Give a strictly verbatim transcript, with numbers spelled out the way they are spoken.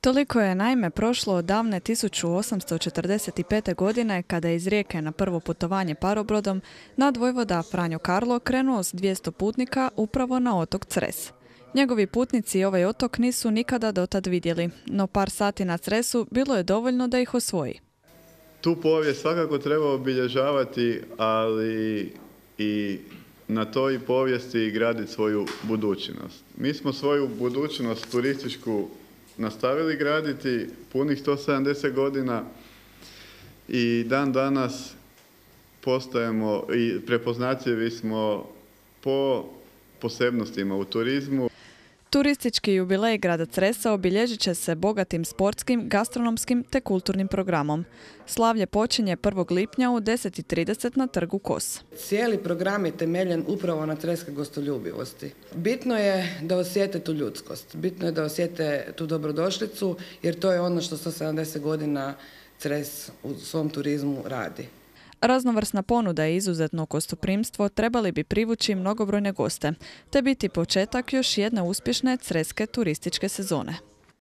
Toliko je naime prošlo od davne tisuću osamsto četrdeset pete. godine kada je iz Rijeke na prvo putovanje parobrodom nadvojvoda Franjo Karlo krenuo s dvjesto putnika upravo na otok Cres. Njegovi putnici ovaj otok nisu nikada dotad vidjeli, no par sati na Cresu bilo je dovoljno da ih osvoji. Tu povijest svakako treba obilježavati, ali i na toj povijesti graditi svoju budućnost. Mi smo svoju budućnost turističku nastavili graditi punih sto sedamdeset godina i dan danas postajemo i prepoznatljivi smo po posebnostima u turizmu. Turistički jubilej grada Cresa obilježit će se bogatim sportskim, gastronomskim te kulturnim programom. Slavlje počinje prvog lipnja u deset i trideset na trgu Kos. Cijeli program je temeljen upravo na creske gostoljubivosti. Bitno je da osjete tu ljudskost, bitno je da osjete tu dobrodošlicu, jer to je ono što sto sedamdeset godina Cres u svom turizmu radi. Raznovrsna ponuda i izuzetno gostoprimstvo trebali bi privući mnogobrojne goste, te biti početak još jedne uspješne creske turističke sezone.